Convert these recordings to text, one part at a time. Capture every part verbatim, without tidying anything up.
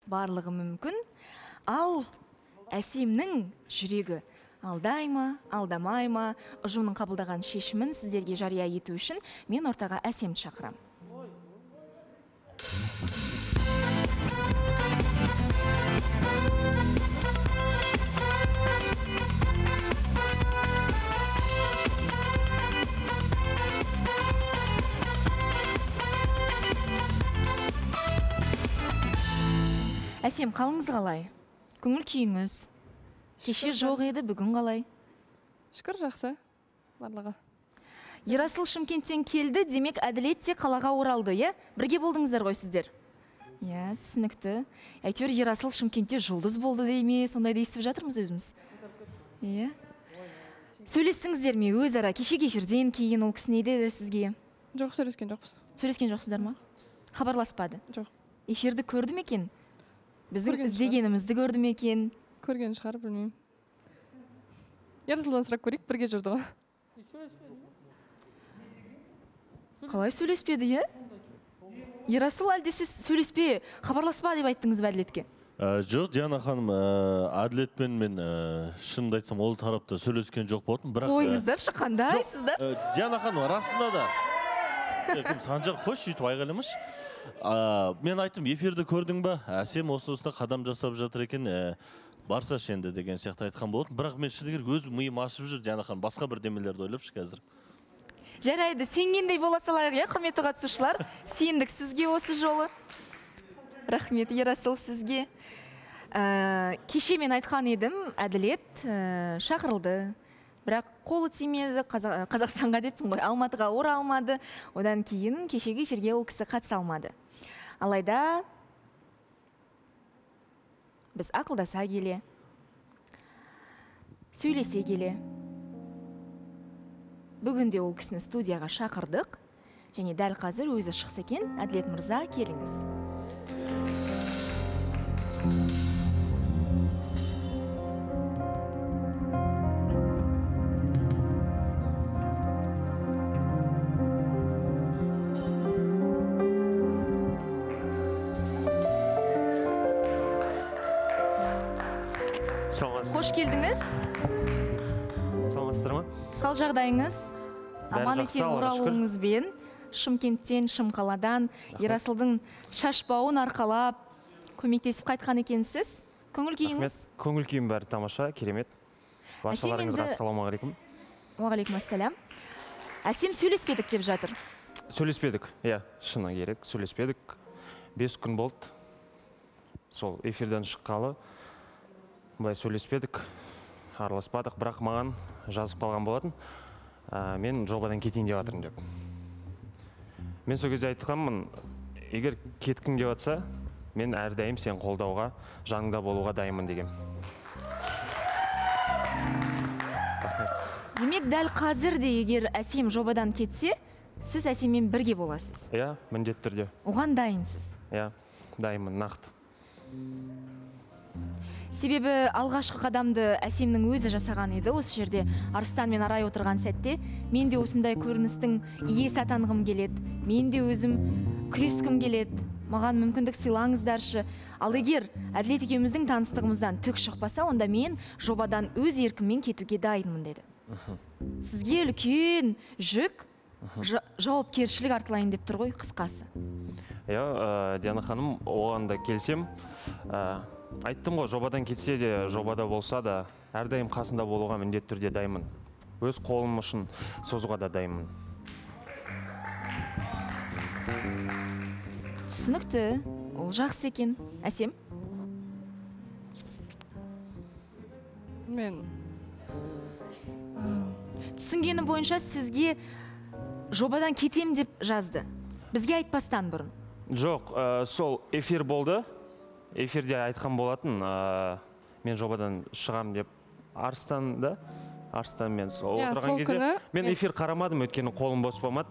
барлығы мүмкін. Ал Әсемнің жүрегі алдай ма, алдамай ма, ұжымның қабылдаған шешімін сіздерге жария ету үшін мен ортаға Әсемді шақырам. Әсем, қалыңыз қалай? Көңіл күйіңіз? Кеше жоқ еді, бүгін қалай? Шүкір, жақсы. Барлығы. Ерасыл Шымкенттен келді, демек Әділет те қалаға оралды, е? Бірге болдыңыздар ғой сіздер? Е, түсінікті. Әйтеуір Ерасыл Шымкентте жұлдыз болды дей ме, сондайды естіп жатырмыз өзіміз. Е? Сөйлестіңіздер ме өзара? Кешегі эфирден кейін ол кісі не деді сізге? Жоқ, сөйлескен жоқпыз. Сөйлескен жоқсыздар ма? Хабарласпады? Жоқ. Эфирді көрді ме екен? Біздің іздегенімізді көрді ме екен? Көрген шығар, білмеймін. Ерасылдан сұрақ көрейік, бірге жүрді ғой. Қалай сөйлеспеді, е? Ерасыл, әлде сіз сөйлеспе, хабарласпа деп айттыңыз ба Әділетке? Жоқ, Диана ханым, Әділетпен мен шынымды айтсам, ол тарапта сөйлескен жоқ болатын, бірақ... Ойыңыздар шыққандайсыздар? Диана ханым, расында да... Санжар, қош, үйтіп айғалымыш. Мен айттым, эфирді көрдің ба? Әсем осы-осына қадам жасап жатыр екен, барса шенді деген сияқты айтқан болатын. Бірақ мен шыны керек өзім миым ашып жүр, Диана ханым, басқа бір демелерді ойлапшы қазір. Жарайды, сенгендей бола салайық, е, құрметті қатысушылар. Сендік сізге осы жолы. Рахмет, Ерасыл, сізге. Кеше мен айтқан едім, Әділет шақырылды. Бірақ қолы тимеді, Қазақстанға деппін ғой, Алматыға оралмады. Одан кейін кешегі эфирге ол кісі қатыса алмады. Алайда біз ақылдаса келе, сөйлесе келе, бүгінде ол кісіні студияға шақырдық, және дәл қазір өзі шықса екен. Әділет мырза, келіңіз. Қош келдіңіз. Саламатсыздар ма? Қал жағдайыңыз? Аман есен оралуыңызбен Шымкенттен, Шымқаладан Ерасылдың шашбауын арқалап көмектесіп қайтқан екенсіз. Көңіл күйіңіз? Көңіл күйім бәрі тамаша, керемет. Баршаларыңызға ассалаумағалейкум. Уағалейкум ассалам. Әсем, сөйлеспедік деп жатыр. Сөйлеспедік, иә, шыны керек, сөйлеспедік. Бес күн болды. Сол эфирден шыққалы. Бұлай сөйлеспедік, араласпадық, бірақ маған жазып қалған болатын. Мен жобадан кетейін деп жатырмын деп. Мен сол кезде айтқанмын, егер кеткің деп жатса, мен әрдайым сен қолдауға, жаныңда болуға дайынмын деген. Демек, дәл қазір де егер Әсем жобадан кетсе, сіз Әсеммен бірге боласыз? Иә, міндетті түрде. Оған дайынсыз? Иә, дайынмын, нақты. Себебі алғашқы қадамды Әсемнің өзі жасаған еді. Осы жерде Арыстан мен Арай отырған сәтте мен де осындай көріністің иесі атанғым келеді. Мен де өзім күрескім келеді. Маған мүмкіндік сыйлаңыздаршы. Ал егер Әділет екеуміздің таныстығымыздан түк шықпаса, онда мен жобадан өз еркіммен кетуге дайынмын деді. Сізге үлкен жүк, жауапкершілік артылайын деп тұр ғой, қысқасы. Иә, Диана ханым, оған да келсем, айттым ғой, жобадан кетсе де, жобада болса да, әрдайым қасында болуға міндетті түрде дайынмын. Өз қолым үшін созуға да дайынмын. Түсінікті, ол жақсы екен. Әсем? Мен... Түсінгені бойынша сізге жобадан кетем деп жазды. Бізге айтпастан бұрын. Жоқ, сол эфир болды. Эфирде айтқан болатын, мен жобадан шығам деп. Арыстанда, Арыстан мен сол отырған кезде. Мен эфир қарамадым, өткені қолым бос болмады.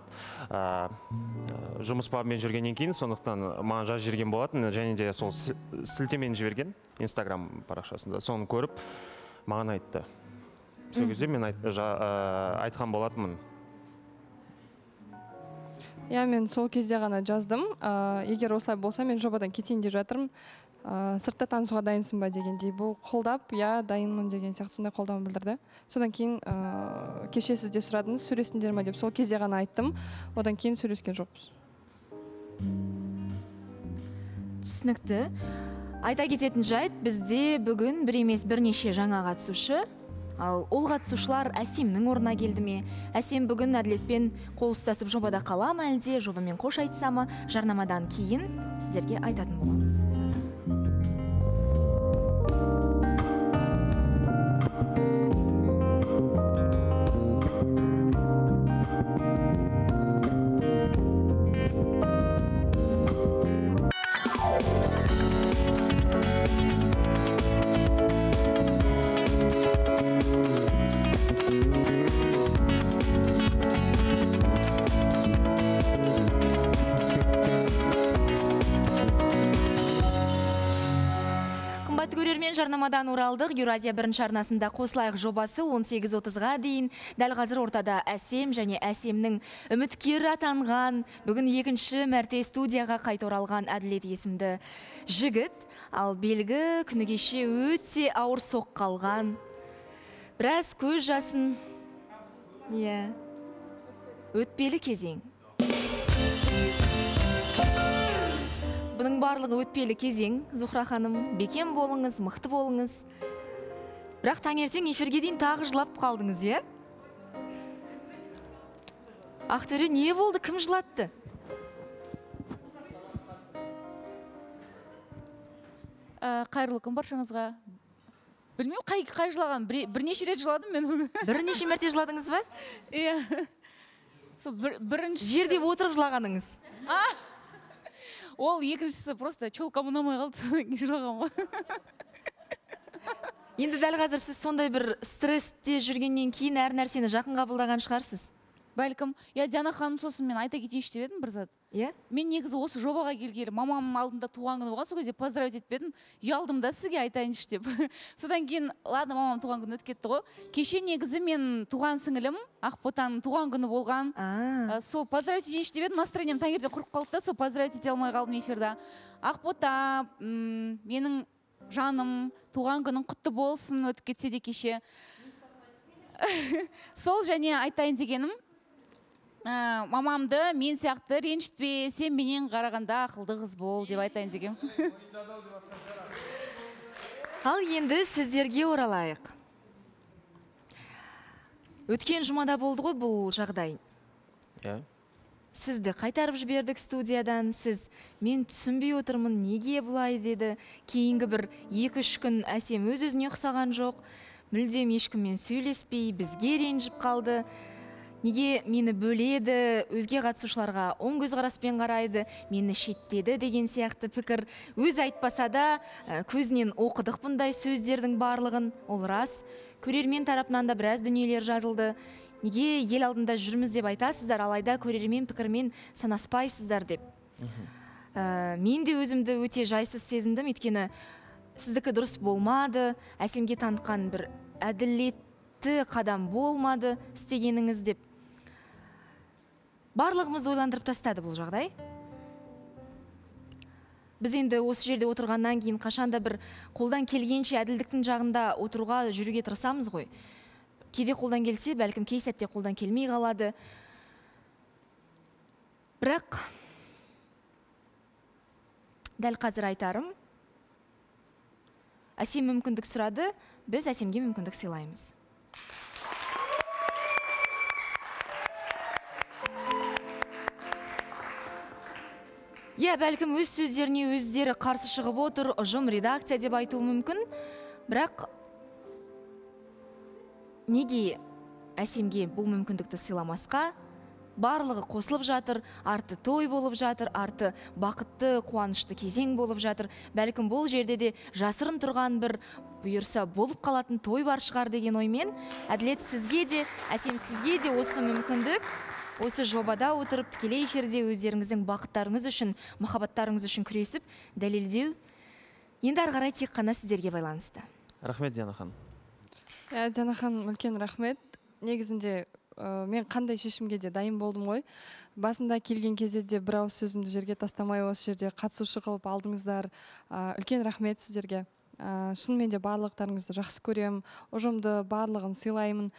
Жұмыс бабымен жүргеннен кейін, сондықтан маған жаз жүрген болатын, және де сол сілтемені жіберген Инстаграм парақшасында. Соны көріп, маған айтты. Сол кезде мен айтқан болатынмын. Иә, мен сол кезде ғана жаздым. Егер осылай болса, мен жобадан кетейін деп жатырмын. ә, сыртта танысуға дайынсың ба дегендей. Бұл қолдап, я дайынмын деген сияқты сондай қолдау білдірді. Содан кейін ә, кеше сіз де сұрадыңыз, сөйлестіңдер ме деп, сол кезде ғана айттым. Одан кейін сөйлескен жоқпыз. Түсінікті. Айта кететін жайт, бізде бүгін бір емес бірнеше жаңа қатысушы. Ал ол қатысушылар Әсемнің орнына келді ме? Әсем бүгін Әділетпен қол ұстасып жобада қала ма әлде жобамен қош айтса ма? Жарнамадан кейін сіздерге айтатын боламыз. Жарнамадан оралдық. Еуразия бірінші арнасында қосылайық жобасы он сегіз отызға дейін. Дәл қазір ортада Әсем және Әсемнің үміткер атанған, бүгін екінші мәрте студияға қайта оралған Әділет есімді жігіт. Ал белгі күні кеше өте ауыр соқ қалған. Біраз көз жасын, иә, өтпелі кезең. Бұның барлығы өтпелі кезең. Зухра ханым, бекем болыңыз, мықты болыңыз. Бірақ таңертең эфирге дейін тағы жылап қалдыңыз, е? Ақтөре, не болды? Кім жылатты? Қайырлы күн баршаңызға. Білмеймін, қай қай жылаған? Бірнеше рет жыладым мен. Бірнеше мәрте жыладыңыз ба? Иә. Бірінші жерде отырып жылағаныңыз. Ол екіншісі просто чолкам ұнамай қалды, содан кейін жылаған ғой. Енді дәл қазір сіз сондай бір стрессте жүргеннен кейін әр нәрсені жақын қабылдаған шығарсыз. Бәлкім, я Диана ханым сосын мен айта кетейінші деп едім бір зат. Иә? Мен негізі осы жобаға келгелі мамамның алдында туған күні болған, сол кезде поздравить етпедім. Ұялдым да сізге айтайыншы деп. Содан кейін, ладно, мамам туған күні өтіп кетті ғой. Кеше негізі мен туған сіңілім, Ақботаның туған күні болған. Сол поздравить етейінші деп едім, настроением таңертең құрып қалды да, сол поздравить ете алмай қалдым эфирда. Ақбота, менің жаным, туған күнің құтты болсын, өтіп кетсе де кеше. Сол және айтайын дегенім, мамамды мен сияқты ренжітпе, сен менен қарағанда ақылды қыз бол деп айтайын деген. Ал енді сіздерге оралайық. Өткен жұмада болды ғой бұл жағдай. Иә. Сізді қайтарып жібердік студиядан, сіз мен түсінбей отырмын, неге бұлай деді. Кейінгі бір екі-үш күн Әсем өз-өзіне ұқсаған жоқ. Мүлдем ешкіммен сөйлеспей, бізге ренжіп қалды. Неге мені бөледі, өзге қатысушыларға оң көзқараспен қарайды, мені шеттеді деген сияқты пікір. Өз айтпаса да көзінен оқыдық бұндай сөздердің барлығын. Ол рас. Көрермен тарапынан да біраз дүниелер жазылды. Неге ел алдында жүрміз деп айтасыздар, алайда көрермен пікірмен санаспайсыздар деп. Мен де өзімді өте жайсыз сезіндім, өйткені сіздікі дұрыс болмады, Әсемге танытқан бір әділетті қадам болмады істегеніңіз деп. Барлығымызды ойландырып тастады бұл жағдай. Біз енді осы жерде отырғаннан кейін қашанда бір қолдан келгенше әділдіктің жағында отыруға жүруге тырысамыз ғой. Кейде қолдан келсе, бәлкім кей сәтте қолдан келмей қалады. Бірақ дәл қазір айтарым, Әсем мүмкіндік сұрады, біз Әсемге мүмкіндік сыйлаймыз. Иә, бәлкім өз сөздеріне өздері қарсы шығып отыр, ұжым, редакция деп айтуы мүмкін. Бірақ неге Әсемге бұл мүмкіндікті сыйламасқа? Барлығы қосылып жатыр, арты той болып жатыр, арты бақытты, қуанышты кезең болып жатыр. Бәлкім бұл жерде де жасырын тұрған бір бұйырса болып қалатын той бар шығар деген оймен, Әділет сізге де, Әсем сізге де осы мүмкіндік, осы жобада отырып тікелей эфирде өздеріңіздің бақыттарыңыз үшін, махаббаттарыңыз үшін күресіп, дәлелдеу. Енді ары қарай тек қана сіздерге байланысты. Рахмет, Диана ханым. Диана ханым, үлкен рахмет. Негізінде ә, мен қандай шешімге де дайын болдым ғой. Басында келген кезде де бір ауыз сөзімді жерге тастамай осы жерде қатысушы қылып алдыңыздар. Ә, үлкен рахмет сіздерге. Ә, шынымен де барлықтарыңызды жақсы көремін, ұжымды барлығын сыйлаймын.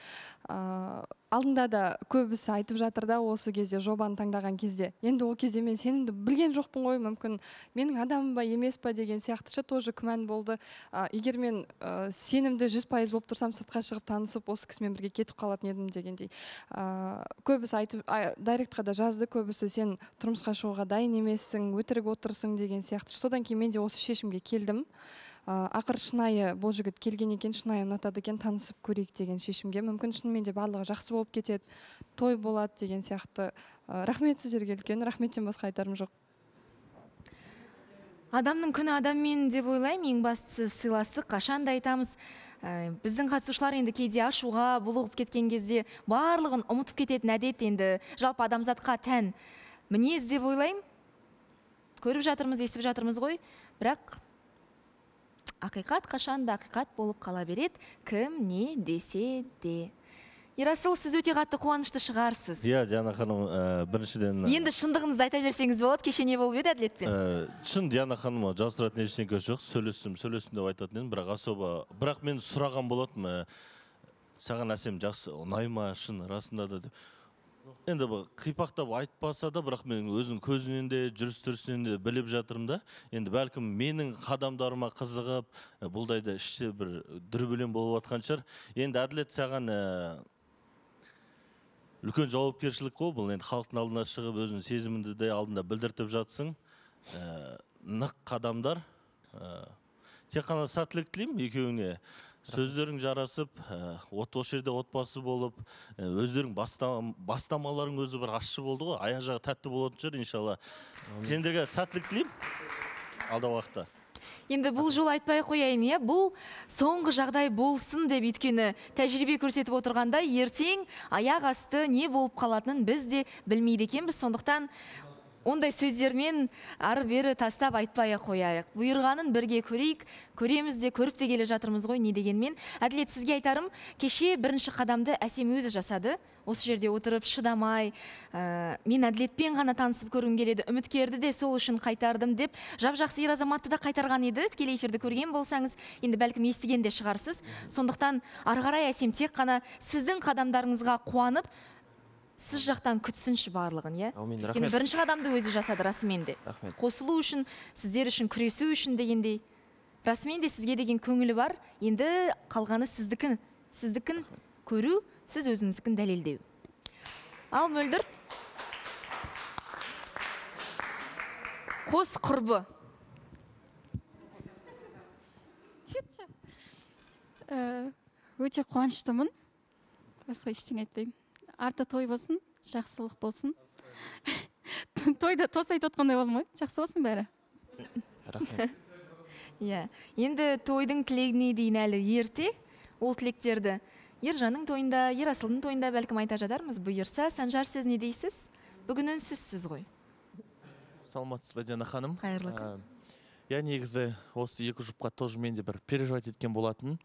Ә, алдында да көбісі айтып жатыр да осы кезде жобаны таңдаған кезде. Енді ол кезде мен сенімді білген жоқпын ғой, мүмкін менің адамым ба емес па деген сияқтышы тоже күмән болды. Ә, егер мен ә, сенімді жүз пайыз болып тұрсам, сыртқа шығып танысып осы кісімен бірге кетіп қалатын едім дегендей. Ә, көбісі айтып, дайректқа да жазды, көбісі сен тұрмысқа шығуға дайын емессің, өтірік отырсың деген сияқты. Содан кейін мен де осы шешімге келдім. Ақыр шынайы бұл жігіт келген екен, шынайы ұнатады екен, танысып көрейік деген шешімге. Мүмкін шынымен де барлығы жақсы болып кетеді, той болады деген сияқты. Рахмет сіздерге үлкен, рахметтен басқа айтарым жоқ. Адамның күні адаммен деп ойлаймын, ең бастысы сыйластық. Қашанда айтамыз, біздің қатысушылар енді кейде ашуға, булығып кеткен кезде барлығын ұмытып кететін әдет енді жалпы адамзатқа тән мінез деп ойлаймын. Көріп жатырмыз, естіп жатырмыз ғой, бірақ ақиқат қашанда ақиқат болып қала береді, кім не десе де. Ерасыл, сіз өте қатты қуанышты шығарсыз. Иә, Диана ханым, біріншіден... Енді шындығыңызды айта берсеңіз болады, кеше не болып еді әділетпен? Шын, Диана ханым, жасыратын ештеңе жоқ, сөйлестім, сөйлестім деп айтатын едім, бірақ особо... Бірақ мен сұраған болатым, саған әсем жақсы, ұнайма, шын, расында да деп. Енді бұл қипақтап айтпаса да, бірақ мен өзінің көзінен де, жүріс-тұрысынан де біліп жатырмын да. Енді бәлкім менің қадамдарыма қызығып, бұлдайда іште бір дүрбелең болып жатқан шығар. Енді әділет саған үлкен жауапкершілік қой, бұл енді халықтың алдына шығып, өзінің сезімінді де алдында білдіртіп жатсың. Нық қадамдар. Тек қана сәттілік тілеймін екеуіңе. Сөздерің жарасып, осы жерде отбасы болып, өздерің бастамаларың өзі бір ащы болды ғой, аяқ жағы тәтті болатын шығар, иншалла. Сендерге сәттілік тілеймін, алда уақытта. Енді бұл жол айтпай қояйын, е, бұл соңғы жағдай болсын деп, өйткені тәжірибе көрсетіп отырғанда ертең аяқ асты не болып қалатынын біз де білмейді екенбіз. Сондықтан ондай сөздермен ары бері тастап айтпай қояйық. Бұйырғанын бірге көрейік, көреміз де, көріп те келе жатырмыз ғой, не дегенмен. Әділет, сізге айтарым, кеше бірінші қадамды әсем өзі жасады. Осы жерде отырып шыдамай, мен әділетпен ғана танысып көргім келеді, үміткерді де сол үшін қайтардым деп, жап-жақсы ер азаматты да қайтарған еді. Тікелей эфирді көрген болсаңыз, енді бәлкім естіген де шығарсыз. Сондықтан ары қарай әсем тек қана сіздің қадамдарыңызға қуанып, сіз жақтан күтсінші барлығын, е? Өйткені бірінші қадамды өзі жасады, расымен де. Қосылу үшін, сіздер үшін күресу үшін дегендей. Расымен де сізге деген көңілі бар, енді қалғаны сіздікін, сіздікін көру, сіз өзіңіздікін дәлелдеу. Ал Мөлдір. Қос құрбы. Өте қуаныштымын. Басқа ештеңе айтпаймын. Арты той болсын, жақсылық болсын. Тойда тост айтып отқандай болдым ғой, жақсы болсын бәрі. Рахмет. Иә, енді тойдың тілегіне дейін әлі ерте, ол тілектерді Ержанның тойында, Ерасылдың тойында бәлкім айта жатармыз. Бұйырса, Санжар, сіз не дейсіз? Бүгін үнсізсіз ғой. Саламатсыз ба, Диана ханым? Қайырлы күн. Я негізі осы екі жұпқа тоже мен де бір переживать еткен болатын.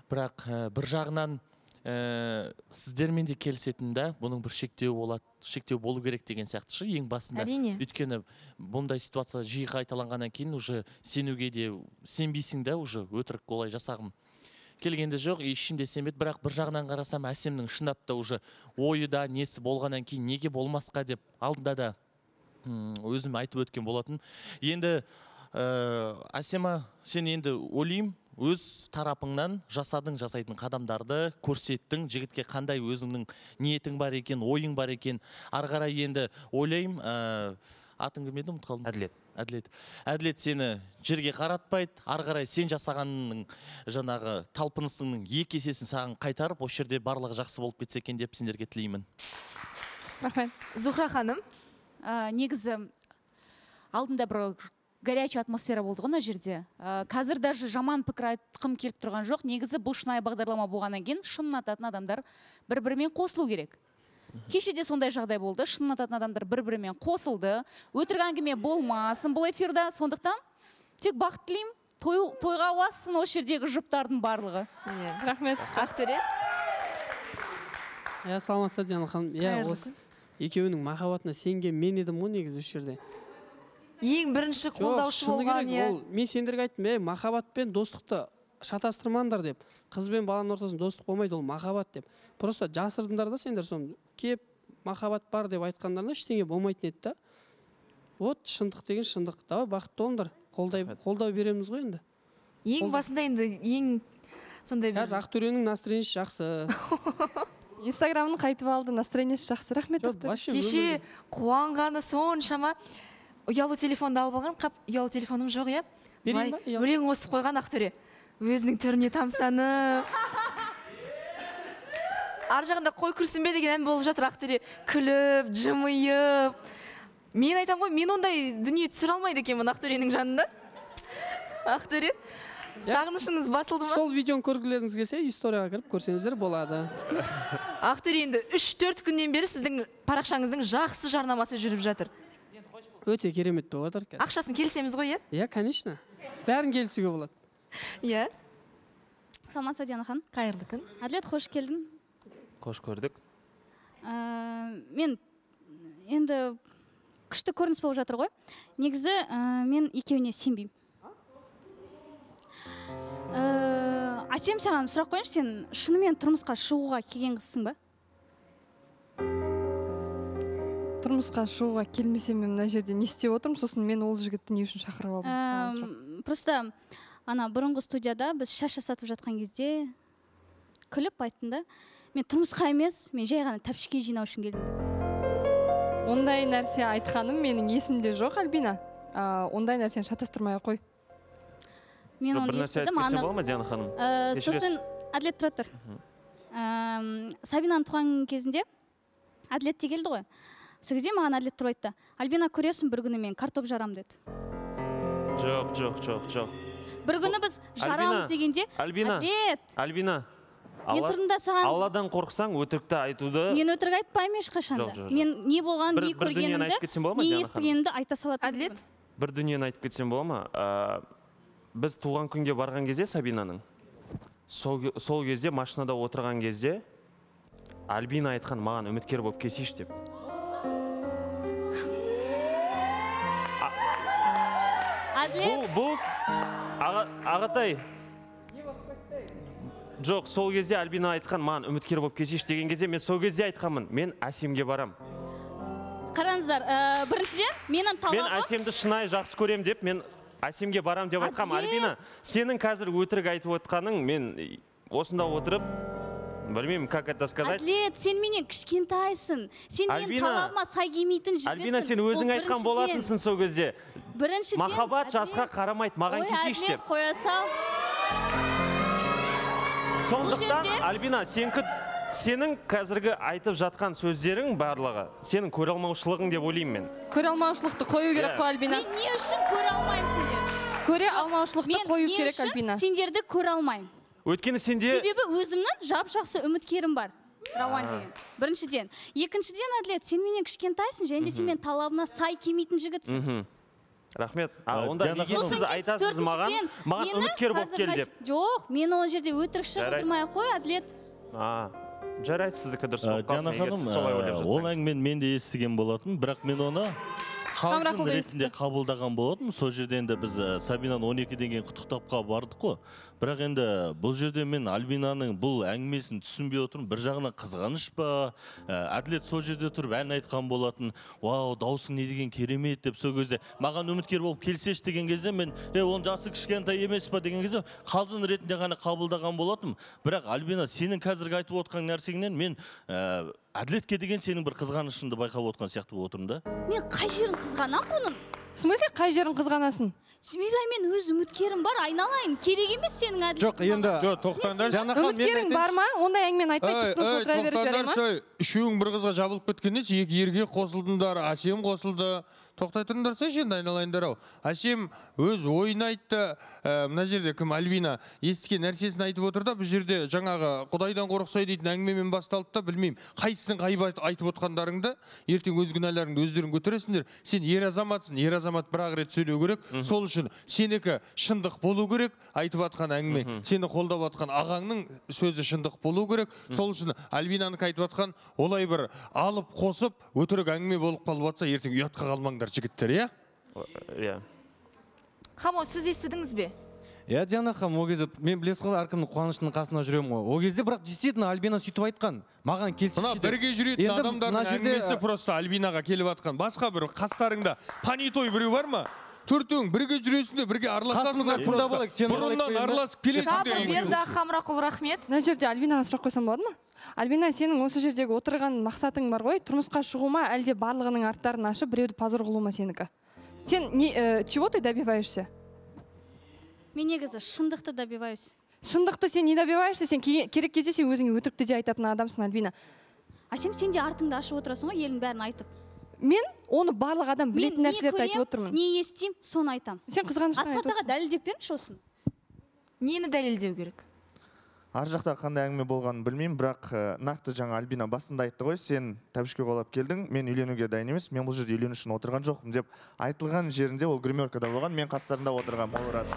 Бірақ бір жағынан сіздермен де келісетін да, бұның бір шектеу болады, шектеу болу керек деген сияқты шы, ең басында. Әрине. Өйткені бұндай ситуация жиі қайталанғаннан кейін уже сенуге де сенбейсің да, уже өтірік олай жасағым келгенде жоқ, ешкімде сенбеді. Бірақ бір жағынан қарасам, әсемнің шындап та уже ойы да несі болғаннан кейін неге болмасқа деп алдында да өзім айтып өткен болатын. Енді Әсема, сен енді ойлайым, өз тарапыңнан жасадың жасайтын қадамдарды көрсеттің, жігітке қандай өзіңнің ниетің бар екен, ойың бар екен. Ары қарай енді ойлайым, атың кім еді, ұмытып қалдым? Әділет. Әділет. Әділет сені жерге қаратпайды, ары қарай сен жасағанның жаңағы талпынысыңның екі есесін саған қайтарып, осы жерде барлығы жақсы болып кетсе екен деп сендерге тілеймін. Рахмет. Зухра ханым. Негізі алдында бір горячий атмосфера болды ғой мына жерде. Қазір даже жаман пікір айтқым келіп тұрған жоқ. Негізі бұл шынайы бағдарлама болғаннан кейін шын ұнататын адамдар бір-бірімен қосылу керек. Кешеде сондай жағдай болды. Шын ұнататын адамдар бір-бірімен қосылды. Өтірік әңгіме болмасын бұл эфирда. Сондықтан тек бақыт тілеймін. Тойға уасын осы жердегі жұптардың барлығы. Рахмет. Ақтөре. иә саламатсыз Диана ханым. Иә, осы екеуінің махаббатына сенген мен едім ғой негізі осы жерде. Ең бірінші қолдаушы болған, иә. Ол мен сендерге айттым, "Ей, махаббат пен достықты шатастырмаңдар" деп. Қыз бен баланың ортасында достық болмайды, ол махаббат деп. Просто жасырдыңдар да сендер соны. Кеп махаббат бар деп айтқандарына ештеңе болмайтын еді да. Вот шындық деген шындық. Давай бақытты болыңдар. Қолдай қолдау береміз ғой енді. Ең басында енді ең сондай бір. Қазір Ақтөренің настроениесі жақсы. Инстаграмын қайтып алды, настроениесі жақсы. Рахмет. Кеше қуанғаны соншама. Ұялы телефонды алып алған, қап ұялы телефоным жоқ, иә? Берейін ба? Өлең осып қойған Ақтөре. Өзінің түріне тамсанып. Ар жағында қой күрсінбе деген ән болып жатыр Ақтөре. Күліп, жымиып. Мен айтам ғой, мен ондай дүние түсіре алмайды екенмін Ақтөренің жанында. Ақтөре, сағынышыңыз басылды ма? Сол видеоны көргілеріңіз келсе, историяға кіріп көрсеңіздер болады. Ақтөре, енді үш төрт күннен бері сіздің парақшаңыздың жақсы жарнамасы жүріп жатыр. Өте керемет болып жатыр. Ақшасын келісеміз ғой, иә? Иә, конечно. Бәрін келісуге болады. Иә. Саламатсыз Диана ханым. Қайырлы күн. Әділет, қош келдің. Қош көрдік. Мен енді күшті көрініс болып жатыр ғой. Негізі мен екеуіне сенбеймін. Әсем, саған сұрақ қойыңшы, сен шынымен тұрмысқа шығуға келген қызсың ба? Тұрмысқа шығуға келмесем мен мына жерде не істеп отырмын, сосын мен ол жігітті не үшін шақырып алдым? Просто ана бұрынғы студияда біз шаш жасатып жатқан кезде күліп айттым да, мен тұрмысқа емес, мен жай ғана тәпшіке жинау үшін келдім. Ондай нәрсе айтқаным менің есімде жоқ, Альбина. Ондай нәрсені шатастырмай қой. Мен оны естідім. Бір нәрсе айтып кетсем бола ма, Диана ханым? Сосын Әділет тұра тұр. Сабинаның туған кезінде Әділет те келді ғой. Сол кезде маған Әділет тұрып айтты: "Альбина, көресің, бір күні мен картоп жарам" деді. Жоқ, жоқ, жоқ, жоқ. Бір күні біз жарамыз дегенде, Әділет, Альбина, мен тұрдым саған... Алладан қорқсаң, өтірікті айтуды... Мен өтірік айтпаймын ешқашанда. Мен не болған, не көргенімді, не естігенімді айта салатын. Әділет? Бір дүниені айтып кетсем бола ма? Біз туған күнге барған кезде Сабинаның, сол кезде машинада отырған кезде Альбина айтқан, маған үміткер болып келсейші деп. Бұл ағатай, жоқ, сол кезде Альбина айтқан, маған үміткер болып келсейші деген кезде мен сол кезде айтқанмын, мен Әсемге барам. Қараңыздар, біріншіден менің талабым... Мен Әсемді шынайы жақсы көрем деп, мен Әсемге барам деп айтқам. Альбина, сенің қазір өтірік айтып отқаның, мен осында отырып, білмеймін, как это сказать. Әділет, сен менен кішкентайсың. Сен менің талабыма сай келмейтін жігітсің. Альбина, сен өзің айтқан болатынсың сол кезде. Біріншіден... Махаббат жасқа қарамайды, маған келсейші деп. Ой, Әділет, қоя сал. Сондықтан, Альбина, сенің қазіргі айтып жатқан сөздерің барлығы, сенің көреалмаушылығың деп ойлаймын мен. Көреалмаушылықты қою керек қой, Альбина. Мен не үшін көре алмаймын сендерді? Көреалмаушылықты қою керек, Альбина. Мен не үшін сендерді көре алмаймын? Өйткені сенде... Себебі өзімнің жап-жақсы үміткерім бар. Рауан деген. Біріншіден. Екіншіден, Әділет, сен менен кішкентайсың, және де сен мен талабына сай келмейтін жігітсің. Рахмет. Онда неге сіз айтасыз маған, маған үміткер болып кел деп? Жоқ, мен ол жерде өтірік шығындырмай қой, Әділет. Жарайды, сіздікі дұрыс болып қалсын, егер сіз солай ойлап жатсаңыз. Ол әңгімені мен де естіген болатын, бірақ мен оны қалжың ретінде қабылдаған болатын. Сол жерде енді біз Сабинаны он екіден кейін құттықтапқа бардық қой. Бірақ енді бұл жерде мен Альбинаның бұл әңгімесін түсінбей отырмын. Бір жағынан қызғаныш па, Әділет сол жерде тұрып ән айтқан болатын. Вау, даусың не деген керемет деп сол кезде маған үміткер болып келсеш деген кезде мен, е, оның жасы кішкентай емес па деген кезде қалжың ретінде ғана қабылдаған болатым. Бірақ Альбина, сенің қазіргі айтып отқан нәрсеңнен мен Әділетке деген сенің бір қызғанышыңды байқап отқан сияқты болып отырмын да. Мен қай жерін қызғанам бұның? В смысле, қай жерін қызғанасың? Себебі мен өз үміткерім бар, айналайын. Керек емес сенің Әділет. Жоқ, енді... Жоқ, тоқтаңдар. Үміткерің бар ма? Ондай әңгімені айтпай тұтқын отыра беріп жарай ма? Үшеуің бір қызға жабылып кеткенде, екі ерге қосылдыңдар, Әсем қосылды, тоқтай тұрыңдарса енді айналайындар ау. Әсем өз ойын айтты. Мына жерде кім Альбина естіген нәрсесін айтып отыр да, бұл жерде жаңағы Құдайдан қорықсай дейтін әңгімемен басталды да, білмеймін. Қайсысын ғайып айтып отқандарыңды, ертең өз күнәларыңды өздерің көтересіңдер. Сен ер азаматсың, ер азамат бір-ақ рет сөйлеу керек. Сол үшін сенікі шындық болу керек, айтып атқан әңгіме. Сені қолдап атқан ағаңның сөзі шындық болу керек. Сол үшін Альбинаныкі айтып атқан олай бір алып қосып өтірік әңгіме болып қалып атса, ертең ұятқа қалмаңдар жігіттер, иә? Иә. Хамо, сіз естідіңіз бе? Иә, Диана ханым, ол кезде мен білесіз ғой, әркімнің қуанышының қасына жүремін ғой. Ол кезде бірақ действительно Альбина сөйтіп айтқан. Маған келсінші. Мына бірге жүретін адамдардың әңгімесі просто Альбинаға келіп атқан. Басқа бір қастарыңда понятой біреу бар ма? Төртеуің бірге жүресіңдер, бірге араласасыңдар. Бұрыннан араласып келесіңдер. Берді Хамрақұл, рахмет. Мына жерде Альбинаға сұрақ қойсам болады ма? Альбина, сенің осы жердегі отырған мақсатың бар ғой, тұрмысқа шығу ма, әлде барлығының арттарын ашып, біреуді позор қылу ма сенікі? Сен чего ты добиваешься? Мен негізі шындықты добиваюсь. Шындықты сен не добиваешься? Сен керек кезде сен өзіңе өтірікті де айтатын адамсың, Альбина. Әсем, сен де артыңды ашып отырасың ғой, елдің бәрін айтып. Мен оны барлық адам білетін нәрселерді айтып отырмын. Не естеймін, соны айтам. Сен қызғаныштан айтып отырсың. Асхат аға дәлелдеп беріңізші осын. Нені дәлелдеу керек? Ар жақта қандай әңгіме болғанын білмеймін, бірақ нақты жаңа Альбина басында айтты ғой, сен тәбішке қолап келдің, мен үйленуге дайын емес, мен бұл жерде үйлену үшін отырған жоқпын деп айтылған жерінде ол гримеркада болған, мен қастарында отырған, ол рас.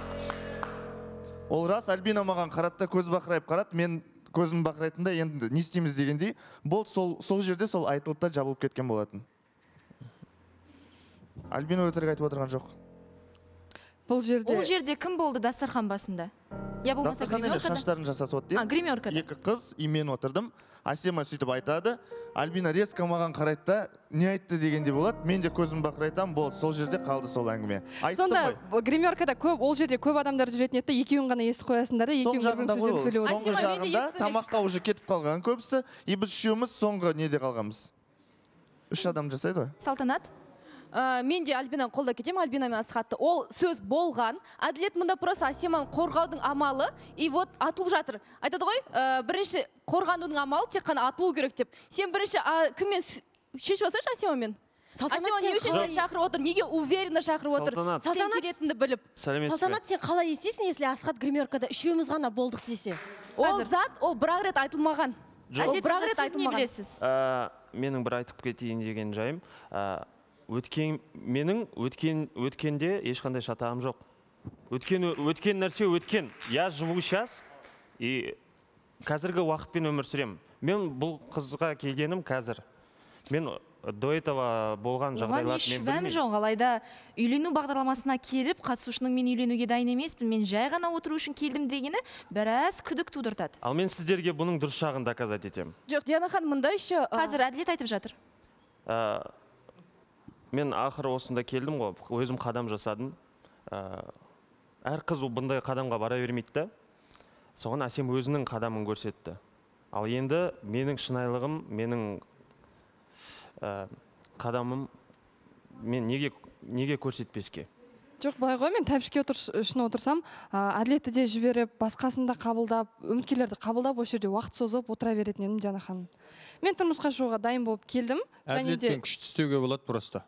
Ол рас, Альбина маған қаратта көз бақырайып қарат, мен көзім бақырайтында енді не істейміз дегендей, бұл сол жерде сол айтылып та жабылып кеткен болатын. Альбина өтірік айтып отырған жоқ. Бұл жерде... Ол жерде кім болды дастархан басында? Дастархан емес, шаштарын жасасып отыр. Гримеркада. Екі қыз, и мен отырдым. Асема сөйтіп айтады. Альбина резко маған қарайды да, не айтты дегенде болады. Мен де көзім бақырайтам, болды. Сол жерде қалды сол әңгіме. Сонда гримеркада көп, ол жерде көп адамдар жүретін еді, екеуін ғана естіп қоясыңдар да, екеуін бір сөздерін сөйлеп отырсың. Соңғы жағында тамаққа уже кетіп қалған көбісі, и біз үшеуміз соңғы неде қалғанбыз. Үш адам жасайды ғой. Салтанат? Мен де Альбинаны қолда кетем, Альбина мен Асхатты. Ол сөз болған. Әділет мұнда просто Асеманы қорғаудың амалы, и вот атылып жатыр. Айтады ғой, бірінші қорғанудың амалы тек қана атылу керек деп. Сен бірінші кіммен шешіп алсайшы Асемамен? Асема не үшін шақырып отыр? Неге уверенно шақырып отыр? Сен келетінді біліп. Салтанат, сен қалай естейсің, если Асхат гримеркада үшеуміз ғана болдық десе? Ол зат, ол бір-ақ рет айтылмаған. Ол бір-ақ рет айтылмаған. Менің бір айтып кетейін деген жайым. Өткен, менің өткен, өткенде ешқандай шатағым жоқ. Өткен, өткен нәрсе өткен. Я живу сейчас, и қазіргі уақытпен өмір сүремін. Мен бұл қызға келгенім қазір. Мен до этого болған жағдайлар мен білмеймін. Жоқ, алайда үйлену бағдарламасына келіп, қатысушының мен үйленуге дайын емеспін, мен жай ғана отыру үшін келдім дегені біраз күдік тудыртады. Ал мен сіздерге бұның дұрыс жағын доказать етемін. Жоқ, Диана ханым, мында еще... Қазір әділет айтып жатыр. Мен ақыры осында келдім ғой, өзім қадам жасадым. Әр қыз бұндай қадамға бара бермейді да. Соған Асем өзінің қадамын көрсетті. Ал енді менің шынайлығым, менің қадамым мен неге көрсетпеске? Жоқ, былай ғой, мен тәбішке үшін отырсам, әділетті де жіберіп, басқасында қабылдап, үміткерлерді қабылдап, осы жерде уақыт созып отыра беретін едім, Диана ханым. Мен тұрмысқа шығуға дайын болып келдім. Әділетпен күшті істеуге болады просто.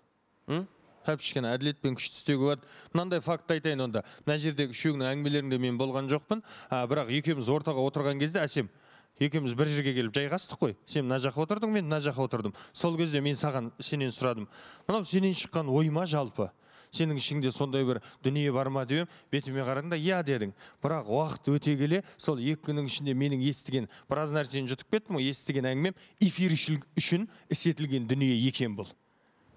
Тәпішкен әділетпен күшті істеуге болады. Мынандай факт айтайын онда. Мына жердегі үшеуінің әңгімелерінде мен болған жоқпын. Бірақ екеуміз ортаға отырған кезде Әсем, екеуміз бір жерге келіп жайғастық қой. Сен мына жаққа отырдың, мен мына жаққа отырдым. Сол кезде мен саған сенен сұрадым. Мынау сенен шыққан ой ма жалпы? Сенің ішіңде сондай бір дүние бар ма деп, бетіме қарадың да, иә дедің. Бірақ уақыт өте келе, сол екі күннің ішінде менің естіген біраз нәрсені жұтып кеттім, естіген әңгімем эфир үшін істетілген дүние екен бұл.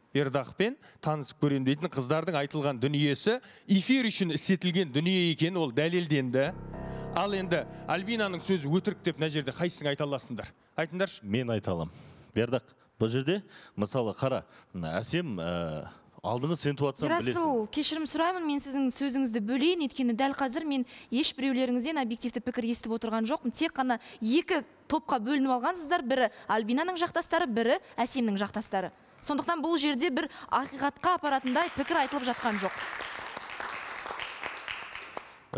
Бердақпен танысып көрем дейтін қыздардың айтылған дүниесі эфир үшін істетілген дүние екен, ол дәлелденді. Ал енді Альбинаның сөзі өтірік деп мына жерде қайсың айта аласыңдар? Айтыңдаршы. Мен айта аламын. Бердақ, бұл жерде мысалы қара, Әсем алдыңыз сен туатсам білесің. Ерасыл, кешірім сұраймын, мен сіздің сөзіңізді бөлейін, өйткені дәл қазір мен еш біреулеріңізден объективті пікір естіп отырған жоқпын. Тек қана екі топқа бөлініп алғансыздар, бірі Альбинаның жақтастары, бірі Әсемнің жақтастары. Сондықтан бұл жерде бір ақиқатқа апаратындай пікір айтылып жатқан жоқ.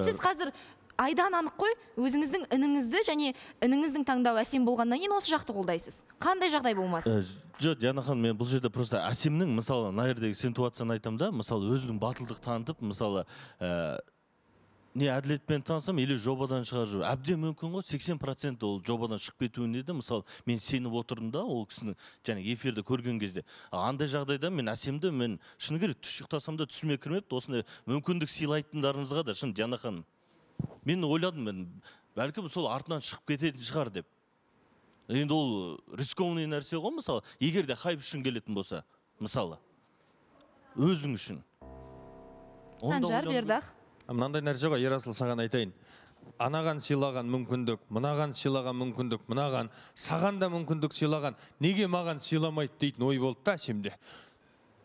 Сіз қазір айдан анық қой, өзіңіздің ініңізді және ініңіздің таңдауы әсем болғаннан кейін осы жақты қолдайсыз. Қандай жағдай болмасын? Жоқ, Диана ханым, мен бұл жерде просто әсемнің, мысалы, мына жердегі ситуацияны айтамын да, мысалы, өзінің батылдық танытып, мысалы, не әділетпен танысам, или жобадан шығар жүр. Әбден мүмкін ғой, сексен процент ол жобадан шығып кетуін еді. Мысалы, мен сеніп отырдым да, ол кісінің және эфирді көрген кезде. Андай жағдайда мен әсемді, мен шыны керек түс ұйықтасам да түсіме кірмепті. Осындай мүмкіндік сыйлайтындарыңызға да, шын Диана ханым. Мен ойладым, мен бәлкім сол артынан шығып кететін шығар деп. Енді ол рискованный нәрсе ғой, мысалы, егер де хайп үшін келетін болса, мысалы, өзің үшін. Санжар, Бердақ. Мынандай нәрсе ғой, Ерасыл, саған айтайын. Анаған сыйлаған мүмкіндік, мынаған сыйлаған мүмкіндік, мынаған, саған да мүмкіндік сыйлаған, неге маған сыйламайды дейтін ой болды да әсемде.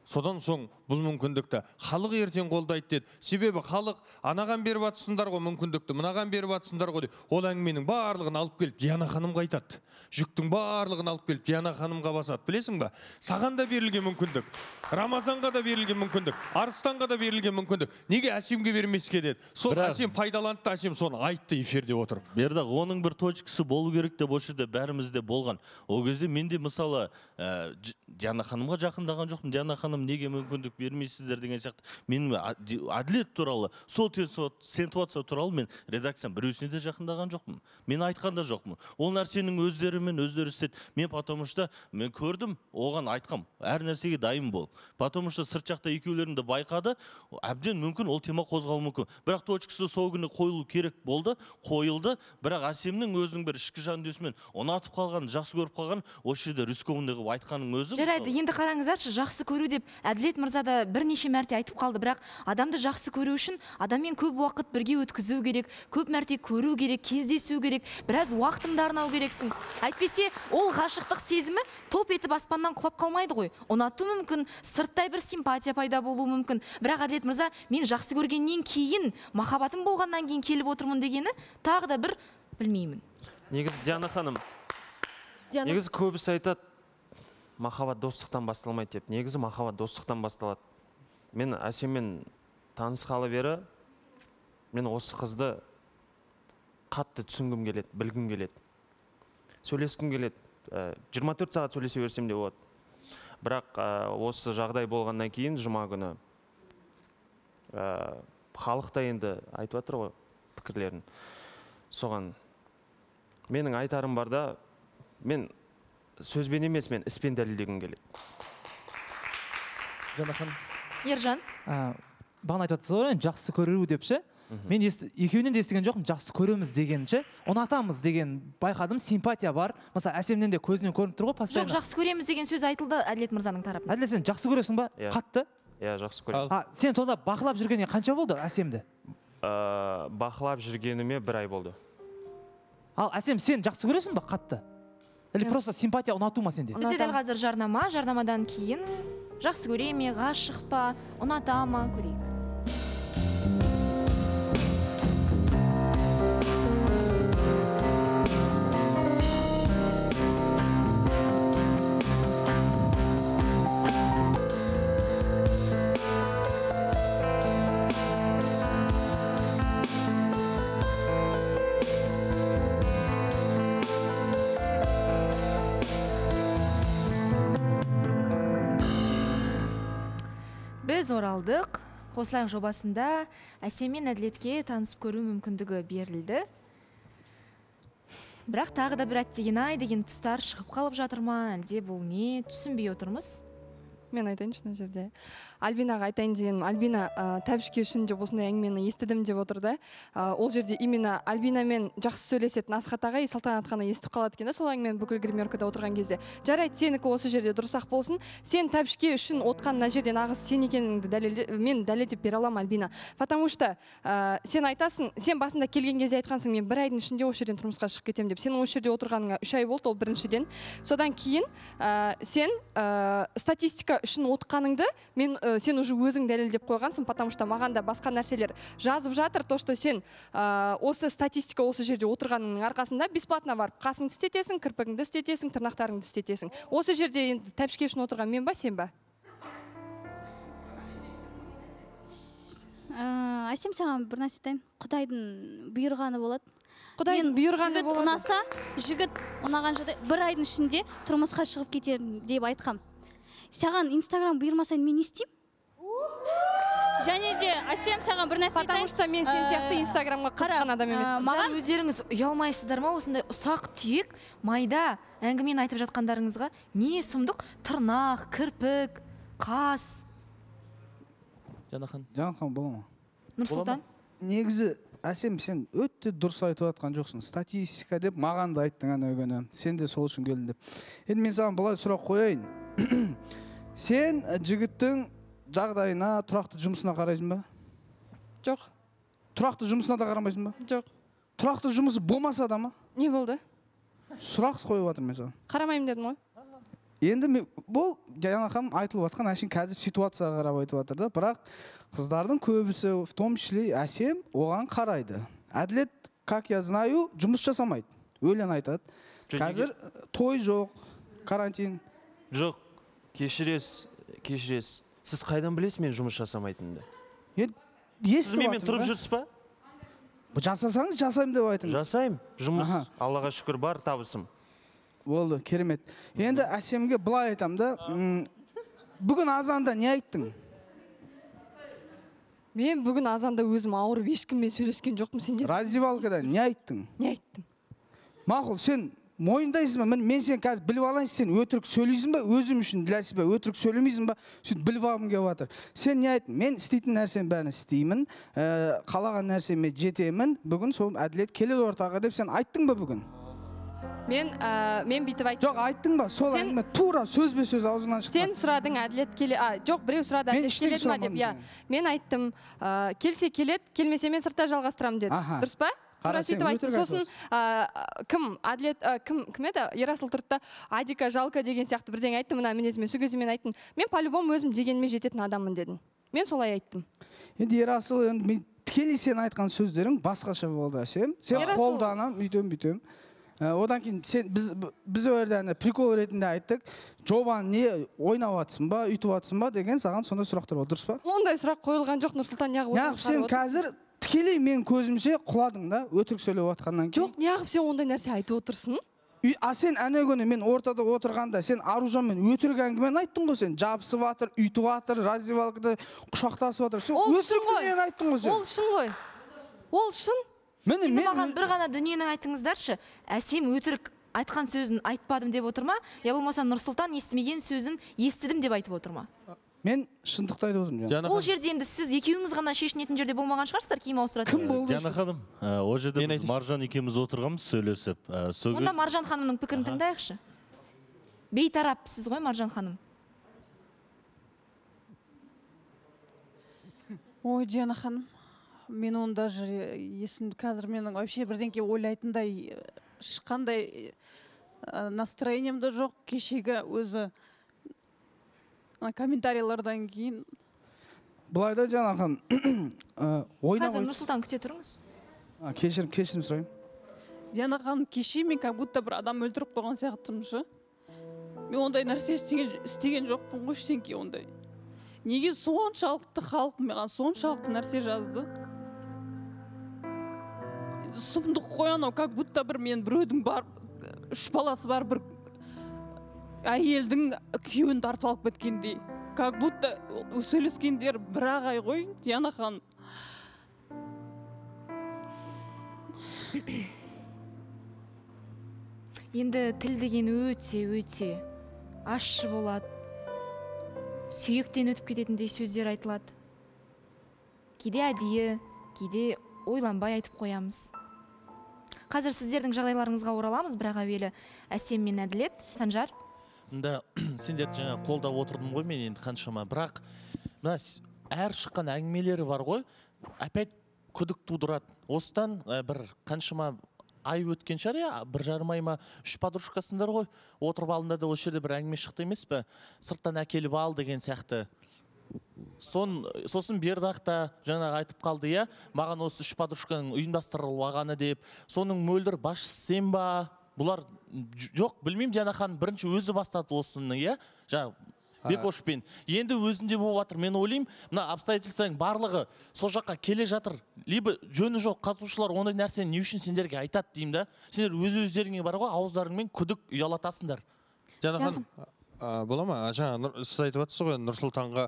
Содан соң бұл мүмкіндікті халық ертең қолдайды деді. Себебі халық анаған беріп атсындар ғой мүмкіндікті, мынаған беріп атсындар ғой. Ол әңгіменің барлығын алып келіп Диана ханымға айтады. Жүктің барлығын алып келіп Диана ханымға басады. Білесің ба? Саған да берілген мүмкіндік, Рамазанға да берілген мүмкіндік, Арыстанға да берілген мүмкіндік. Неге әсемге бермеске деді? Сол әсем пайдаланды, әсем соны айтты эфирде отырып. Бердақ, оның бір точкасы болу керек деп осы жерде бәрімізде болған. Ол кезде мен де мысалы Диана ханымға жақындаған жоқпын. Диана ханым неге мүмкіндік бермейсіздер деген сияқты. Мен әділет туралы, сол ситуация туралы мен редакцияның біреусіне де жақындаған жоқпын. Мен айтқан да жоқпын. Ол нәрсенің өздерімен өздері істеді. Мен потому что мен көрдім, оған айтқам, әр нәрсеге дайын бол. Потому что сырт жақта екеулерінде байқады, әбден мүмкін ол тема қозғалуы мүмкін. Бірақ точкасы сол күні қойылу керек болды, қойылды. Бірақ әсемнің өзінің бір ішкі жан дүниесімен ұнатып қалған, жақсы көріп қалған, осы жерде рискованный қылып айтқаның өзі. Жарайды, енді қараңыздаршы, жақсы көру деп Әділет мырза да бірнеше мәрте айтып қалды, бірақ адамды жақсы көру үшін адаммен көп уақыт бірге өткізу керек, көп мәрте көру керек, кездесу керек, біраз уақытыңды арнау керексің. Әйтпесе ол ғашықтық сезімі топ етіп аспаннан құлап қалмайды ғой. Ұнату мүмкін, сырттай бір симпатия пайда болуы мүмкін. Бірақ Әділет мырза, мен жақсы көргеннен кейін, махаббатым болғаннан кейін келіп отырмын дегені тағы да бір білмеймін. Негізі Диана ханым, негізі көбісі айтады, махаббат достықтан басталмайды деп. Негізі махаббат достықтан басталады. Мен әсеммен танысқалы бері, мен осы қызды қатты түсінгім келеді, білгім келеді. Сөйлескім келеді. жиырма төрт сағат сөйлесе берсем де болады. Бірақ осы жағдай болғаннан кейін жұма күні халық та енді айтып жатыр ғой пікірлерін. Соған менің айтарым бар да, мен сөзбен емес, мен іспен дәлелдегім келеді. Жанахан. Ержан. Бағана айтып жатсыз ғой, жақсы көру деп ше. Мен екеуінен де естіген жоқпын, жақсы көреміз деген ше. Ұнатамыз деген байқадым, симпатия бар. Мысалы, әсемнен де көзінен көрініп тұр ғой, постоянно. Жоқ, жақсы көреміз деген сөз айтылды Әділет мырзаның тарапынан. Әділет, сен жақсы көресің ба? Қатты? Иә, жақсы көремін. А, сен сонда бақылап жүргеніне қанша болды әсемді? Бақылап жүргеніме бір ай болды. Ал әсем, сен жақсы көресің ба қатты? Или просто симпатия ұнату ма сенде? Бізде дәл қазір жарнама, жарнамадан кейін жақсы көре ме, ғашық па, ұната ма, көрейік. Біз оралдық. Қосылайық жобасында әсем мен Әділетке танысып көру мүмкіндігі берілді. Бірақ тағы да бір әттеген-ай деген тұстар шығып қалып жатыр ма, әлде бұл не, түсінбей отырмыз. Мен айтайыншы мына жерде. Альбинаға айтайын деген, Альбина тәбішке үшін деп осындай әңгімені естідім деп отырды. Ол жерде именно Альбинамен жақсы сөйлесетін Асхат ағай Салтанат қана естіп қалады екен, сол әңгімені бүкіл гримеркада отырған кезде. Жарайды, сенікі осы жерде дұрыс-ақ болсын. Сен тәбішке үшін отқан мына жерде нағыз сен екеніңді дәлелде, мен дәлелдеп бере аламын Альбина. Потому что сен айтасың, сен басында келген кезде айтқансың, мен бір айдың ішінде осы жерден тұрмысқа шығып кетемін деп. Сен осы жерде отырғаныңа үш ай болды, ол біріншіден. Содан кейін сен статистика үшін отқаныңды мен сен уже өзің дәлелдеп қойғансың, потому что маған да басқа нәрселер жазып жатыр, то, что сен осы статистика осы жерде отырғаныңның арқасында бесплатно барып қасыңды істетесің, кірпігіңді істетесің, тырнақтарыңды істетесің. Осы жерде енді тәпішке үшін отырған мен ба, сен ба? әсем саған бір нәрсе айтайын. Құдайдың бұйырғаны болады. Құдайдың бұйырғаны болады. Жігіт ұнаса, жігіт ұнаған жағдай бір айдың ішінде тұрмысқа шығып кетер деп айтқам. Саған Инстаграм бұйырмасаң мен не істеймін? Және де әсем саған бір нәрсе айтайын. Потому что мен сен сияқты Инстаграмға қызыққан адам емеспін. Маған өздеріңіз ұялмайсыздар ма осындай ұсақ түйек майда әңгімені айтып жатқандарыңызға? Не сұмдық? Тырнақ, кірпік, қас. Жанахан. Жанахан бола ма? Нұрсұлтан. Негізі әсем сен өте дұрыс айтып жатқан жоқсың. Статистика деп маған да айттың ана күні. Сен де сол үшін келдің деп. Енді мен саған былай сұрақ қояйын. Сен жігіттің жағдайына, тұрақты жұмысына қарайсың ба? Жоқ. Тұрақты жұмысына да қарамайсың ба? Жоқ. Тұрақты жұмысы болмаса да ма? Не болды? Сұрақ қойып жатырмын мен саған. Қарамаймын дедім ғой. Енді бұл жаңа ханым айтылып жатқан әшейін қазір ситуацияға қарап айтып жатыр да, бірақ қыздардың көбісі, в том числе әсем, оған қарайды. Әділет, как я знаю, жұмыс жасамайды. Өлең айтады. Қазір той жоқ, карантин. Жоқ, кешіресіз, кешіресіз. Сіз қайдан білесіз мен жұмыс жасамайтынымды? Сіз менімен тұрып жүрсіз ба? Жасасаңыз жасаймын деп айтыңыз. Жасаймын. Жұмыс, Аллаға шүкір, бар табысым. Болды, керемет. Енді әсемге былай айтам да, бүгін азанда не айттың? Мен бүгін азанда өзім ауырып ешкіммен сөйлескен жоқпын сендер. Раздевалкада не айттың? Не айттым? Мақұл, сен мойындайсың ба? Мен сен қазір біліп алайын, сен өтірік сөйлейсің ба? Өзім үшін біләсіз ба? Өтірік сөйлемейсің ба? Сөйтіп біліп алғым келіп жатыр. Сен не айттың? Мен істейтін нәрсенің бәрін істеймін, қалаған нәрсеме жетемін. Бүгін сол әділет келеді ортаға деп сен айттың ба бүгін? Мен мен бүйтіп айттым. Жоқ, айттың ба? Сол әңгіме тура сөзбе сөз аузынан шықты. Сен сұрадың әділет келе, жоқ, біреу сұрады әділет келеді ма деп. Мен айттым, келсе келеді, келмесе мен сыртта жалғастырамын дедім. Дұрыс па? Тура сөйтіп айттым. Сосын кім әділет кім кім еді? Ерасыл тұрды да Адика, Жалка деген сияқты бірдеңе айтты. Мына мінезіме сол кезде мен айттым. Мен по-любому өзім дегеніме жететін адаммын дедім. Мен солай айттым. Енді Ерасыл, енді тікелей сен айтқан сөздерің басқаша болды әсем. Сен қолданам, үйтем, бүйтем. Одан кейін сен біз біз өрдәне прикол ретінде айттық. Жобаны не ойнап атсың ба, үйтіп атсың ба деген саған сондай сұрақтар болды, дұрыс па? Ондай сұрақ қойылған жоқ, Нұрсұлтан, неғып неғып сен қазір тікелей мен көзімше құладың да, өтірік сөйлеп атқаннан кейін. Жоқ, неғып сен ондай нәрсе айтып отырсың? А сен әне күні мен ортада отырғанда сен Аружанмен өтірік әңгімені айттың ғой, сен жабысып жатыр, үйтіп жатыр, раздевалкада құшақтасып жатыр. Сен өтірік дүниені айттың ғой сен. Ол шын ғой. Ол шын. Енді маған бір ғана дүниені айтыңыздаршы. Әсем өтірік айтқан сөзін айтпадым деп отыр ма? Я болмаса Нұрсұлтан естімеген сөзін естідім деп айтып отыр ма? Мен шындықты айтып отырмын. Ол жерде енді сіз екеуіңіз ғана шешінетін жерде болмаған шығарсыздар, киім ауыстыратын. Кім болды? Жана ханым, ол жерде біз Маржан екеуміз отырғанбыз сөйлесіп. Онда Маржан ханымның пікірін тыңдайықшы. Бейтарапсыз ғой Маржан ханым. Ой, Жана ханым. Мен оны даже есімді қазір менің вообще бірдеңке ойлайтындай ешқандай настроением да жоқ. Кешегі өзі комментарийлардан кейін. Былайда жаңағы ойнап. Қазір Нұрсұлтан күте тұрыңыз. Кешірім, кешірім сұрайын. Жана ханым, кеше мен как будто бір адам өлтіріп қойған сияқтымшы. Мен ондай нәрсе істеген жоқпын ғой, ештеңке ондай. Неге соншалықты халық маған соншалықты нәрсе жазды? Сұмдық қой анау, как будто бір мен біреудің бар, үш баласы бар бір әйелдің күйеуін тартып алып кеткендей. Как будто сөйлескендер бір ағай ғой, Диана ханым. Енді тіл деген өте, өте ащы болады. Сүйектен өтіп кететіндей сөздер айтылады. Кейде әдейі, кейде ойланбай айтып қоямыз. Қазір сіздердің жағдайларыңызға ораламыз, бірақ әуелі Әсем мен Әділет. Санжар? Мында сендер жаңа қолдап отырдым ғой мен енді қаншама, бірақ мына әр шыққан әңгімелері бар ғой, опять күдік тудырады. Осыдан бір қаншама ай өткен шығар, я бір жарым ай ма үш подружкасындар ғой, отырып алдында да осы жерде бір әңгіме шықты емес пе, сырттан әкеліп ал деген сияқты. Сосын бердақта жаңағы айтып қалды, я маған осы үш подружканың ұйымдастырылып алғаны деп. Соның мөлдір басшысы сен ба? Бұлар жоқ, білмеймін, Диана ханым бірінші өзі бастады осыны, я Бекошпен. Енді өзінде болып жатыр. Мен ойлаймын, мына обстоятельствоның барлығы сол жаққа келе жатыр. Либо жөні жоқ қатысушылар ондай нәрсені не үшін сендерге айтады деймін да. Сендер өз-өздеріңе бар ғой, ауыздарыңмен күдік ұялатасыңдар. Жанахан, бола ма? Жаңа сіз айтып жатсыз ғой, Нұрсұлтанға,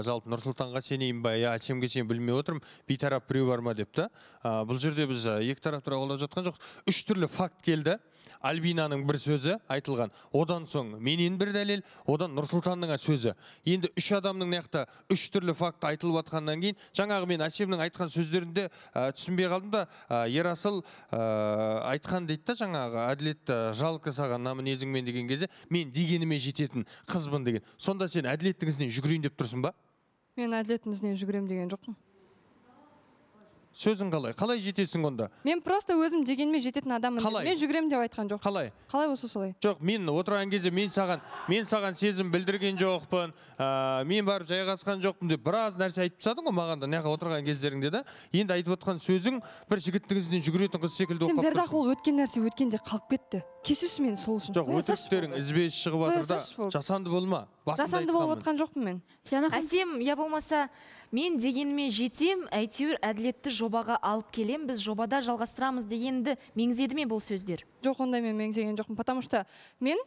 жалпы Нұрсұлтанға сенейін ба, я Әсемге сен білмей отырмын, бейтарап біреу бар ма деп та. Бұл жерде біз екі тарап туралы ойлап жатқан жоқ. Үш түрлі факт келді. Альбинаның бір сөзі айтылған, одан соң менен бір дәлел, одан Нұрсұлтанның сөзі. Енді үш адамның наяқта үш түрлі факт айтылып жатқаннан кейін, жаңағы мен Әсемнің айтқан сөздерінде түсінбей қалдым да, Ерасыл айтқан дейді да, жаңағы әділет жалқы саған намынезіңмен деген кезде, мен дегеніме жететін қызбын деген. Сонда сен әділеттің ізінен жүгірейін деп тұрсың ба? Мен әділеттің ізінен жүгірем деген жоқпын. Сөзің қалай? Қалай жетесің онда? Мен просто өзім дегеніме жететін адаммын. Мен жүгірем деп айтқан жоқ. Қалай? Қалай болса солай? Жоқ, мен отырған кезде мен саған, мен саған сезім білдірген жоқпын, мен барып жайғасқан жоқпын деп біраз нәрсе айтып тастадың ғой маған да, неға отырған кездеріңде да. Енді айтып отқан сөзің бір жігіттің ізінен жүгіретін қыз секілді оқып тұрсың. Бердақ, ол өткен нәрсе өткенде қалып кетті. Кешірші мені сол үшін. Жоқ, өтіріктерің ізбес шығып жатыр да, жасанды болма. Жасанды болып отқан жоқпын мен. Әсем, я болмаса мен дегеніме жетем, әйтеуір әділетті жобаға алып келем, біз жобада жалғастырамыз дегенді меңзеді ме бұл сөздер? Жоқ, ондай мен меңзеген жоқпын, потому что мен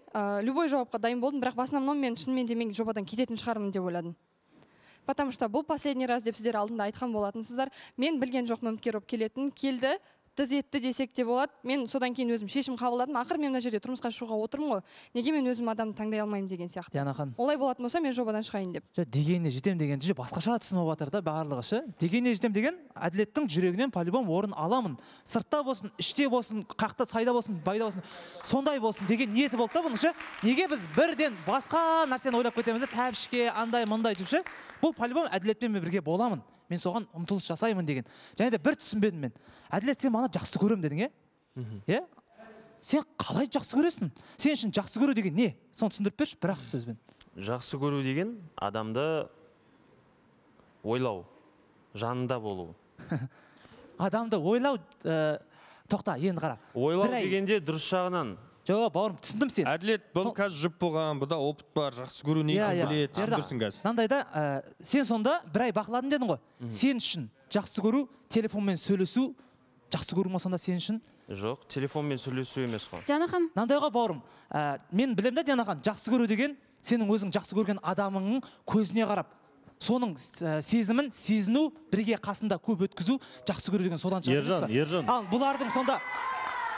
любой жауапқа дайын болдым, бірақ в основном мен шынымен де мен жобадан кететін шығармын деп ойладым. Потому что бұл последний раз деп сіздер алдында айтқан болатынсыздар. Мен білген жоқпын үміткер болып келетін, келді, тыз етті десек те болады. Мен содан кейін өзім шешім қабылдадым. Ақыр мен мына жерде тұрмысқа шығуға отырмын ғой. Неге мен өзім адамды таңдай алмаймын деген сияқты. Дианахан. Олай болатын болса мен жобадан шығайын деп. Дегеніне жетем деген же басқаша түсініп жатыр да барлығы ше. Дегеніне жетем деген әділеттің жүрегінен по-любому орын аламын. Сыртта болсын, іште болсын, қақта сайда болсын, байда болсын, сондай болсын деген ниеті болды да бұның ше. Неге біз бірден басқа нәрсені ойлап кетеміз, тәбішке, андай, мындай деп ше. Бұл по-любому әділетпен бірге боламын. Мен соған ұмтылыс жасаймын деген. Және де бір түсінбедім мен. Әділет, сен мана жақсы көрем дедің, е? Сен қалай жақсы көресің? Сен үшін жақсы көру деген не? Соны түсіндіріп берші, бір-ақ сөзбен. Жақсы көру деген адамды ойлау, жанында болу. Адамды ойлау, тоқта, енді қара. Ойлау дегенде дұрыс жағынан. Жоқ, бауырым, түсіндім сен. Әділет, бұл қазір жұп болған, бұда опыт бар, жақсы көру не білет, түсіндірсің қазір. Мынандайда, сен сонда бір ай бақыладың дедің ғой. Сен үшін жақсы көру, телефонмен сөйлесу, жақсы көру ма сонда сен үшін? Жоқ, телефонмен сөйлесу емес қой. Дианахан. Мынандайға бауырым, мен білем да Дианахан, жақсы көру деген сенің өзің жақсы көрген адамыңның көзіне қарап, соның сезімін сезіну, бірге қасында көп өткізу, жақсы көру деген содан шығады. Ержан, Ержан. Ал бұлардың сонда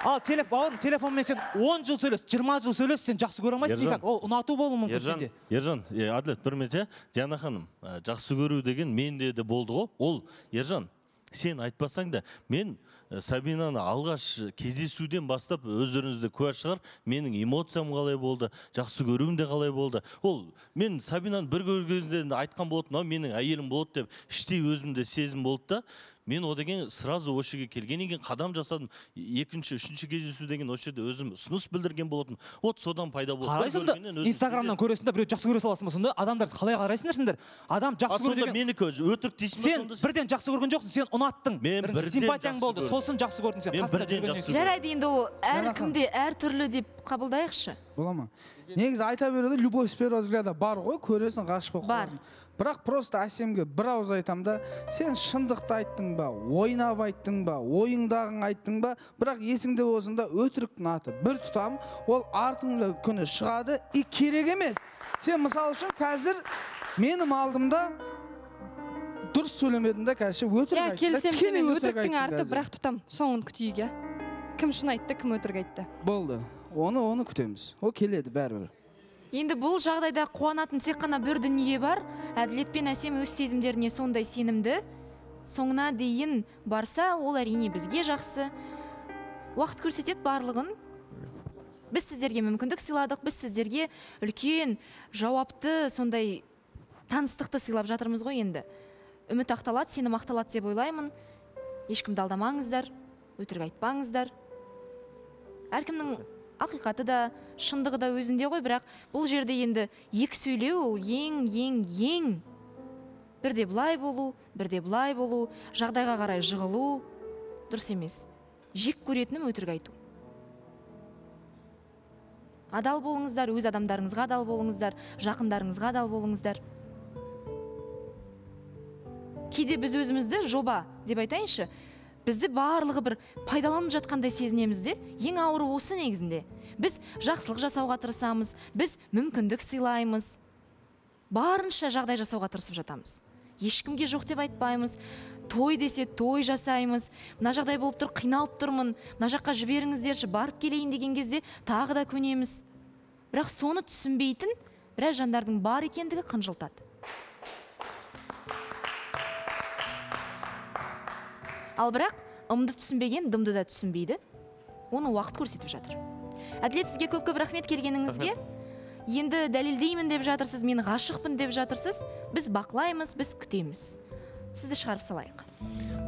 Ал бауырым, телефонмен сен он жыл сөйлес, жиырма жыл сөйлес, сен жақсы көре алмайсың никак. Ол ұнату болуы мүмкін сенде. Ержан, Әділет, бір минут, Диана ханым, жақсы көру деген менде де болды ғой. Ол, Ержан, сен айтпасаң да, мен Сабинаны алғаш кездесуден бастап өздеріңізде куә шығар, менің эмоциям қалай болды, жақсы көруім де қалай болды. Ол, мен Сабинаны бір көргенде айтқан болатын, менің әйелім болды деп, іштей өзімде сезім болды да, мен о деген сразу осы жерге келгеннен кейін қадам жасадым. Екінші, үшінші кездесу деген осы жерде өзім ұсыныс білдірген болатын. Вот содан пайда болды. Қарайсың да, Инстаграмнан көресің да, біреу жақсы көре саласың ба сонда? Адамдар қалай қарайсыңдар сендер? Адам жақсы көру деген. Менікі өтірік дейсің ба сонда? Сен бірден жақсы көрген жоқсың, сен ұнаттың. Мен симпатияң болды, сосын жақсы көрдің сен. Мен бірден жақсы көрдім. Жарайды, енді ол әркімде әртүрлі деп қабылдайықшы. Бола ма? Негізі айта береді, любовь с первого взгляда бар ғой, көресің, ғашық болып қаласың. Бірақ просто Әсемге бір ауыз айтам да, сен шындықты айттың ба, ойнап айттың ба, ойыңдағын айттың ба, бірақ есіңде болсында өтіріктің аты бір тұтам, ол артыңғы күні шығады, и керек емес. Сен мысал үшін қазір менің алдымда дұрыс сөйлемедің да, қазір өтірік айтты. Келсем сенен өтіріктің арты бірақ тұтам, соңын күтейік, кім шын айтты, кім өтірік айтты. Болды, оны оны күтеміз, ол келеді бәрібір. Енді бұл жағдайда қуанатын тек қана бір дүние бар. Әділет пен Әсем өз сезімдеріне сондай сенімді. Соңына дейін барса, ол әрине бізге жақсы. Уақыт көрсетеді барлығын. Біз сіздерге мүмкіндік сыйладық, біз сіздерге үлкен, жауапты, сондай таныстықты сыйлап жатырмыз ғой енді. Үміт ақталады, сенім ақталады деп ойлаймын. Ешкімді алдамаңыздар, өтірік айтпаңыздар. Әркімнің ақиқаты да, шындығы да өзінде ғой, бірақ бұл жерде енді екі сөйлеу, ол ең, ең, ең. Бірде бұлай болу, бірде бұлай болу, жағдайға қарай жығылу, дұрыс емес. Жек көретінім өтірік айту. адал болыңыздар, өз адамдарыңызға адал болыңыздар, жақындарыңызға адал болыңыздар. Кейде біз өзімізді жоба деп айтайыншы, бізді барлығы бір пайдаланып жатқандай сезінеміз де, ең ауыры осы негізінде. Біз жақсылық жасауға тырысамыз, біз мүмкіндік сыйлаймыз, барынша жағдай жасауға тырысып жатамыз. Ешкімге жоқ деп айтпаймыз, той десе той жасаймыз, мына жағдай болып тұр, қиналып тұрмын, мына жаққа жіберіңіздерші, барып келейін деген кезде тағы да көнеміз. Бірақ соны түсінбейтін біраз жандардың бар екендігі қынжылтады. Ал бірақ ымды түсінбеген дымды да түсінбейді. Оны уақыт көрсетіп жатыр. Әділет, сізге көп-көп рахмет келгеніңізге. Енді дәлелдеймін деп жатырсыз, мен ғашықпын деп жатырсыз. Біз бақылаймыз, біз күтеміз. Сізді шығарып салайық.